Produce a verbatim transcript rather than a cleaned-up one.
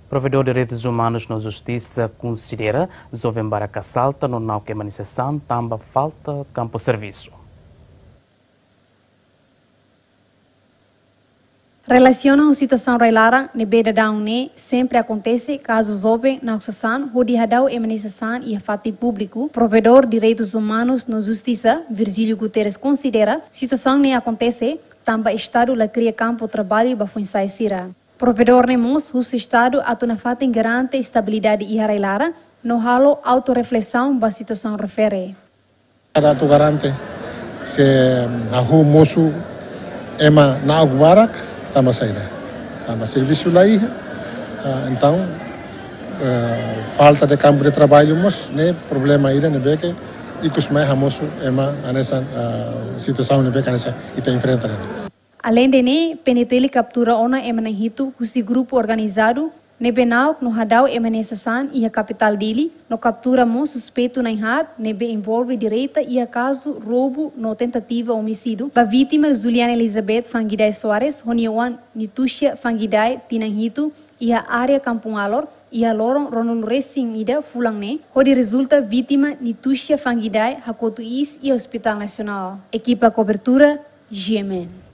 Provedór Direitus Umanus no Justisa konsidera joven barak salta no na'ok ema nia sasán tanba falta kampu servisu. Relasiona ho situasaun rai-laran ne'ebé daudaun ne'e sempre akontese kazu joven na'ok sasán hodi hadau ema nia sasán iha fatin públiku, Provedór Direitus Umanus no Justisa, Virgílio Guterres, konsidera situasaun ne'e akontese tanba Estadu la kria kampu traballu ba foin-sa'e sira. Provedór ne'e mós husu Estadu atu nafatin garante estabilidade iha rai-laran no halo autorreflesaun ba situasaun refere. Estadu atu garante se hahú mosu ema na'ok barak, tanba saida? Tanba servisu la iha, ah, entaun, eh, falta de kampu de traballu mós ne'e problema ida ne'ebé ke ikus mai hamosu ema hanesan, ah, situasaun ne'ebé ke hanesan ita enfrenta ne'e. Aleinde ne'e, P N T L kaptura ona ema na'in hitu husi grupu organizadu ne'ebé na'ok no hadau ema nia sasán iha kapitál Dili, no kaptura mós suspeitu na'in haat ne'ebé envolve direta iha kazu roubu no tentativa omisídiu ba vítima Juliana Elizabeth Fangidae Soares ho nia oan Nitucia Fangidae, tinan hitu, iha área Kampung Alor, iha loron ruanulu resin ida fulan ne'e, hodi rezulta vítima Nitucia Fangidae hakotu iis iha Hospitál Nasionál. Ekipa kobertura, G M N.